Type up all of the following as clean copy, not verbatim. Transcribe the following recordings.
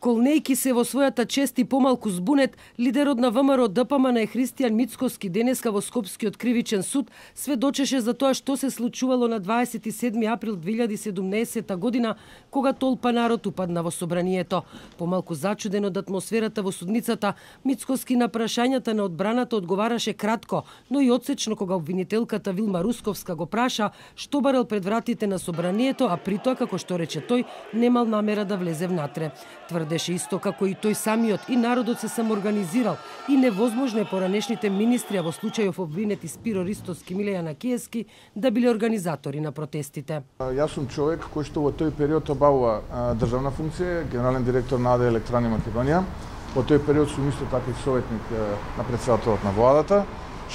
Колнејки се во својата чест и помалку збунет, лидерот на ВМРО ДПМН Христијан Мицкоски денеска во Скопскиот кривичен суд сведочеше за тоа што се случувало на 27 април 2017 година, кога толпа народ упадна во собранието. Помалку зачуден од атмосферата во судницата, Мицкоски на прашањата на одбраната одговараше кратко, но и одсечно кога обвинителката Вилма Русковска го праша што барал пред вратите на собранието, а при тоа, како што рече тој, немал намера да влезе внатре. Тврдеше исто како и тој самиот и народот се самоорганизирал и невозможно е поранешните министри, а во случајов обвинети Спиро Ристоски, Милеја Накиевски, да биле организатори на протестите. Јас сум човек кој што во тој период обавува државна функција, генерален директор на АД Електрани Македонија. Во тој период сум исто така и советник на претседателот на владата,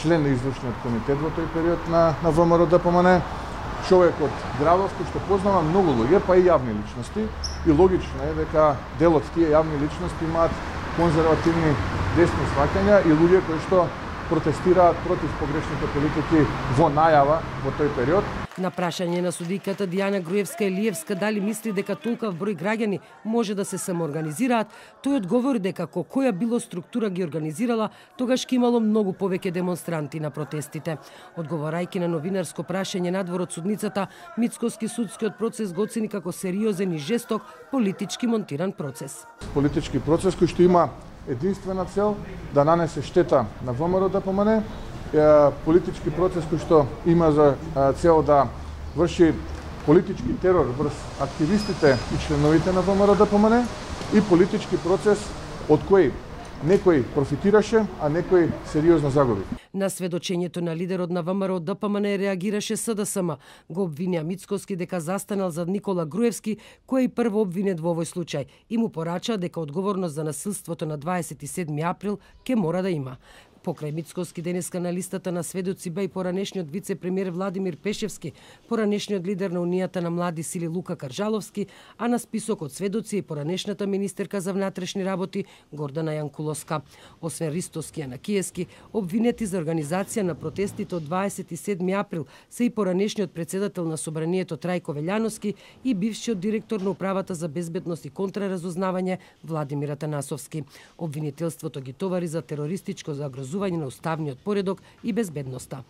член на извршниот комитет во тој период на ВМРО ДПМН. Човек од градов кој што познава многу луѓе, па и јавни личности, и логично е дека дел од тие јавни личности имаат конзервативни десни сваќања и луѓе кои што протестираат против погрешните политики во најава во тој период. На прашање на судиката Дијана Груевска-Елиевска дали мисли дека толкав број граѓани може да се самоорганизираат, тој одговори дека која било структура ги организирала, тогаш ќе имало многу повеќе демонстранти на протестите. Одговарајќи на новинарско прашање надвор од судницата, Мицкоски судскиот процес го оцени како сериозен и жесток политички монтиран процес. Политички процес кој што има единствена цел да нанесе штета на ВМРО ДПМН, политички процес кој што има за цел да врши политички терор врз активистите и членовите на ВМРО ДПМН и политички процес од кој некој профитираше, а некој сериозно загуби. На сведочењето на лидерот на ВМРО ДПМН реагираше СДСМ. Го обвинија Мицкоски дека застанал зад Никола Груевски, кој е прво обвинет во овој случај, и му порача дека одговорност за насилството на 27 април ќе мора да има. Покрај Мицкоски денеска на листата на сведоци бе и поранешниот вице-премиер Владимир Пешевски, поранешниот лидер на Унијата на млади сили Лука Каржаловски, а на списокот сведоци и поранешната министерка за внатрешни работи Гордана Јанкуловска. Освен Ристоски и Накиевски, обвинети за организација на протестите од 27 април се и поранешниот председател на собранието Трајко Велјановски и бившиот директор на управата за безбедност и контраразузнавање Владимир Атанасовски. Обвинителството ги товари за терористичко загрозување на уставниот поредок и безбедноста.